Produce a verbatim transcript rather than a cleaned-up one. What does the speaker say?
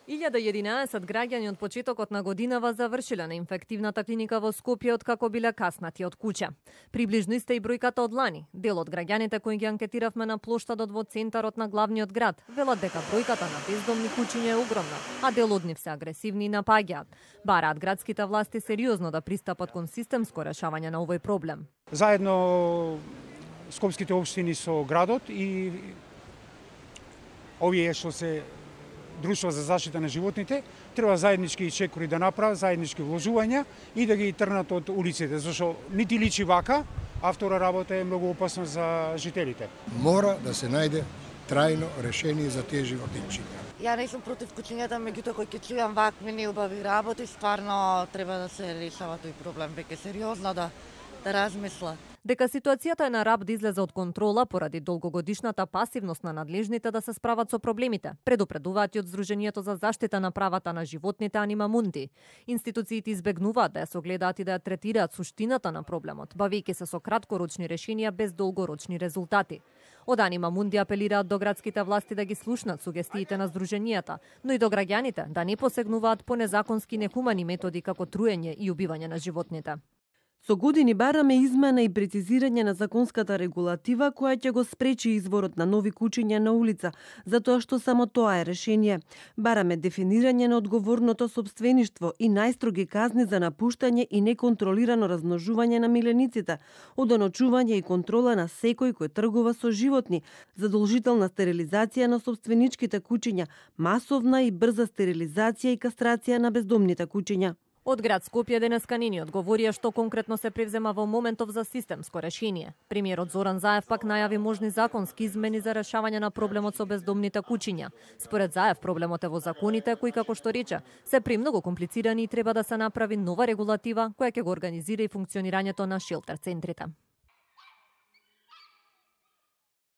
илјада и единаесет граѓани од почетокот на годинава завршиле на инфективната клиника во Скопје откако биле каснати од куќа. Приближно иста и бројката од лани. Дел од граѓаните кои ги анкетиравме на плоштадот во центарот на главниот град велат дека бројката на бездомни куќиња е огромна, а дел од нив се агресивни и напаѓаат. Бараат градските власти сериозно да пристапат кон системско решавање на овој проблем. Заедно скопските општини со градот и овие што се Друштво за заштита на животните треба заеднички и чекори да направат, заеднички вложувања и да ги трнат од улиците, зашто нити личи вака, а втора работа е многу опасно за жителите. Мора да се најде трајно решение за тие животинчиња. Ја не сум против куќињата, меѓутоа кој ќе чујам вакви неубави работи, стварно треба да се решава тој проблем, веќе сериозно да да размисла. Дека ситуацијата е на раб да излезе од контрола поради долгогодишната пасивност на надлежните да се справат со проблемите, предупредуваат и од Сдруженијето за заштита на правата на животните Анима Мунди. Институциите избегнуваат да ја согледаат и да ја третираат суштината на проблемот, бавејќи се со краткорочни решенија без долгорочни резултати. Од Анима Мунди апелираат до градските власти да ги слушнат сугестиите на Сдруженијата, но и до граѓаните да не посегнуваат по незаконски нехумани методи како труење и убивање на животните. Со години бараме измена и прецизирање на законската регулатива која ќе го спречи изворот на нови куќиња на улица, затоа што само тоа е решение. Бараме дефинирање на одговорното сопствеништво и најстроги казни за напуштање и неконтролирано размножување на милениците, одоночување и контрола на секој кој тргува со животни, задолжителна стерилизација на сопственичките куќиња, масовна и брза стерилизација и кастрација на бездомните куќиња. Од град Скопје денеска не ни одговорија што конкретно се превзема во моментов за системско решение. Премиерот Зоран Заев пак најави можни законски измени за решавање на проблемот со бездомните куќиња. Според Заев проблемот е во законите кои, како што рече, се премногу комплицирани и треба да се направи нова регулатива која ќе го организира и функционирањето на шелтер центрите.